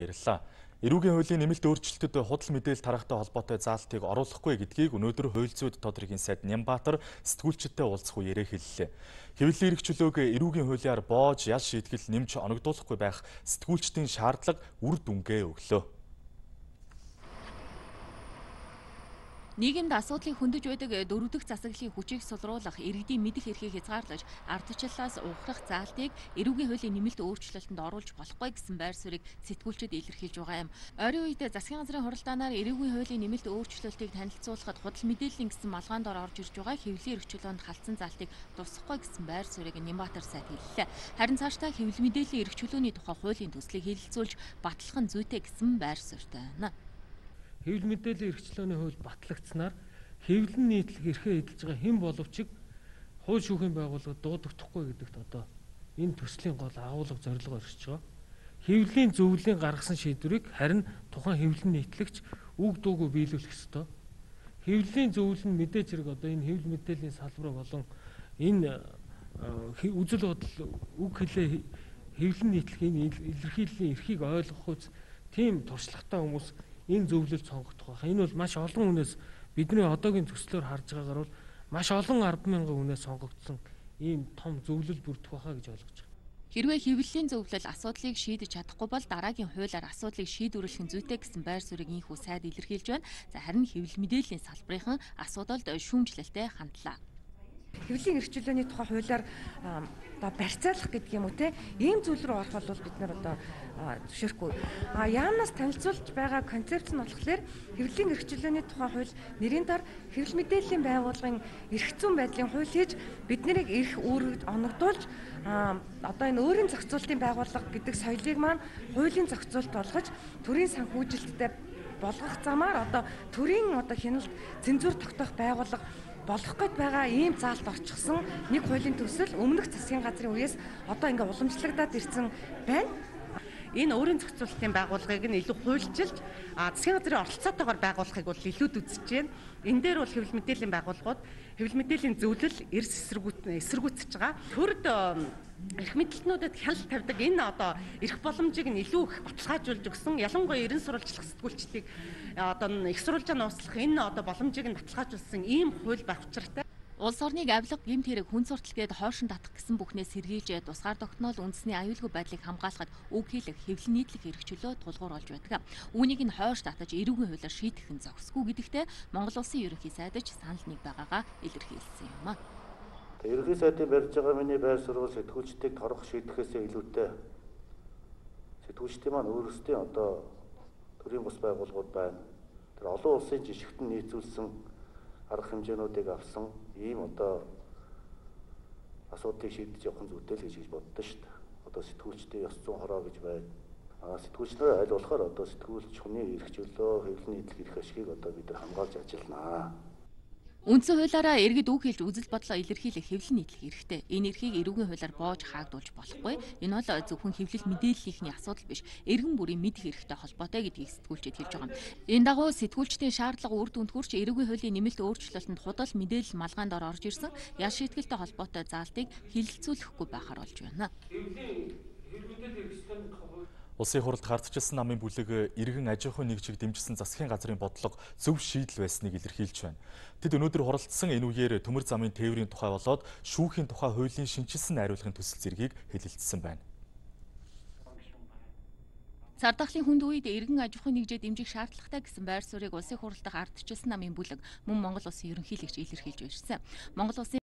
Баярлалаа. Эрүүгийн хуулийн нэмэлт өөрчлөлтөд худал мэдээлэл тарахтай холбоотой заалтыг оруулахгүй гэдгийг өнөөдөр хууль зүйн тодорхойн сайд Нямбатар сэтгүүлчидтэй уулзах үеэрээ хэллээ. Хэвлэлийн эрх чөлөөг эрүүгийн хуулиар боож ял шийтгэл нэмж оногдуулахгүй байх сэтгүүлчдийн шаардлага үр дүнгээ өглөө. Нийгэмд асуудлыг хөндөж байдаг дөрөвдөх засаглалын хүчийг сулруулах, иргэдийн мэдэх эрхийг хязгаарлаж, ардчлалаас ухрах заалтыг эрүүгийн хуулийн нэмэлт өөрчлөлтөнд оруулж болохгүй гэсэн байр суурийг сэтгүүлчид илэрхийлж байгаа юм. Ойрын үед засгийн газрын хуралдаанаар эрүүгийн хуулийн нэмэлт өөрчлөлтийг танилцуулахад худал мэдээллийн гэсэн малгаан дор орж ирж байгаа хэвлэлийн эрх чөлөөнд халтсан заалтыг тусахгүй гэсэн байр суурийг Нямбатар сайд хэллээ. Харин цаашдаа хэвлэл мэдээллийн эрх чөлөөний тухай хуулийн төслийг хэлэлцүүлж батлах нь зүйтэй гэсэн байр суурьтай байна. Хэвлэл мэдээллийн эрхчлөөний хууль батлагдсанаар хэвлэл нийтлэг эрхээ эдэлж байгаа хэн боловч хууль шүүхийн байгууллагад дуудагдахгүй гэдэгт одоо энэ төслийн гол агуулга зорилго оршиж байгаа. Хэвлэлийн зөвлөлийн гаргасан шийдвэрийг харин тухайн хэвлэл нийтлэгч үг дуугүй биелүүлэх ёстой. Хэвлэлийн зөвлөл нь мэдээж хэрэг одоо энэ хэвлэл мэдээллийн салбар болон энэ үзэл бодол үг хэлээ хэвлэл нийтлэх энэ илэрхийллийн эрхийг ойлгох үз тийм туршлагатай хүмүүс энэ зөвлөлд сонгогдох байх. Энэ бол маш олон хүнээс бидний одоогийн төслөөр харж байгаагаар бол маш олон 10,000 хүнээс сонгогдсон ийм том зөвлөл бүрдэх байхаа гэж ойлгож байна. Хэрвээ хэвлэлийн зөвлөл асуудлыг шийдэж чадахгүй бол дараагийн хуулиар асуудлыг шийдвэрлэх нь зүйтэй гэсэн байр суурийг инхүү сайд илэрхийлж байна. Харин хэвлэл мэдээллийн салбарын асуудалд шүүмжлэлтэй хандлаа. Хэвлэлийн эрх чөлөөний тухай хуулиар одоо барьцаалах гэдэг юм уу те ийм зүйл рүү орох бол бид нар одоо зөвшөөрөхгүй. Яамнаас танилцуулж байгаа концепц нь болохоор хэвлэлийн эрх чөлөөний тухай хууль нэрийн дор хэвлэл мэдээллийн байгууллагын эрх зүйн байдлын хууль хийж бид нарыг эрх үүрэгд оногдуулж одоо энэ өөрийн зохицуулалтын байгууллага гэдэг соёлыг маань хуулийн зохицуулалт болгож төрийн санхүүжилттэй болгох замаар одоо төрийн одоо хяналт цензур тогтоох байгууллага болох гээд байгаа ийм заалт орчихсон нэг хуулийн төсөл өмнөх засгийн газрын үеэс одоо ингээ уламжлагдаад ирсэн байна. Энэ өөрийн зохицуулалтын байгууллагыг нь илүү хуульчилж засгийн газрын оролцоотойгоор байгуулахыг бол илүүд үзэж байна. Энэ дээр бол хэвлэл мэдээллийн байгууллагууд хэвлэл мэдээллийн зөвлөл эрс эсэргүүцэж байгаа. Төрд эрх мэдлэлтнүүдэд хяналт тавьдаг энэ одоо эрх боломжийг нь илүү их баталгаажуулж өгсөн. Ялангуяа ерэн сурвалжлах сэтгүүлчлэлийг одоо их сурвалжаа нууцлах энэ одоо боломжийг нь баталгаажуулсан ийм хууль байх учиртай. Улс орныг авилга, гэмт хэрэг, хүн сурталчилгээд хоошин татах гэсэн бүхнээс сэргийлж тусгаар тогтноол үндэсний аюулгүй байдлыг хамгаалахад үг хэлэх, хэвлэл нийтлэх эрх чөлөө тулгуур болж байдаг. Үүнийг нь хойш татаж эрүүгийн хуулиар шийдэх нь зохисгүй гэдэгтээ Монгол Улсын ерөнхий сайдч санал нэг байгаагаа илэрхийлсэн юм. Ерөнхий сайдын барьж байгаа миний байр суурь сэтгүүлчдийг торгох шийдэхээс илүүтэй сэтгүүлчдийн маань өөрсдийн одоо төрийн бус байгууллагууд байна. Тэр олон улсын жишгтэн нийцүүлсэн арга хэмжээнүүдийг авсан ийм одоо асуудлыг шийдэж явах нь зүйтэй л гэж боддоо шүү дээ. Одоо сэтгүүлчдийн ёс зүйн хороо гэж байна. Сэтгүүлчнэр аль болохоор одоо сэтгүүлч хүний эрх чөлөө, хэвлэл нийтлэх эрх ашигыг одоо бид нар хамгаалж ажилланаа. Үндсэн хуулиараа иргэд үг хэлж үзэл бодлоо илэрхийлэх хэвлэл нийтлэх эрхтэй. Энэ эрхийг эрүүгийн хуулиар боож хаагдуулж болохгүй. Энэ бол зөвхөн хэвлэл мэдээллийнхний асуудал биш, эргэн бүрийн мэдэх эрхтэй холбоотой гэдгийг сэтгүүлчид хэлж байгаа юм. Энэ дагуу сэтгүүлчдийн шаардлага үр дүнд хүрч эрүүгийн хуулийн нэмэлт өөрчлөлтөнд худал мэдээлэл малгаан дор орж ирсэн ял шийтгэлтэй холбоотой заалтыг хэлэлцүүлэхгүй байхаар болж байна. Улсын хурлд гардчилсан намын бүлэг иргэн аж ахуйн нэгжийг дэмжсэн засгийн газрын бодлого зөв шийдэл байсныг илэрхийлж байна. Тэд өнөөдөр хуралдсан энэ үеэр төмөр замын тээврийн тухай болоод шүүхийн тухай хуулийн шинжилсэн найруулгын төсөл зэргийг хэлэлцсэн байна. Цардахлын хүнд үед иргэн аж ахуйн нэгжээ дэмжих шаардлагатай гэсэн байр суурийг улсын хурлд гардчилсан намын бүлэг мөн Монгол Улсын ерөнхийлөгч илэрхийлж ирсэн. Монгол Улсын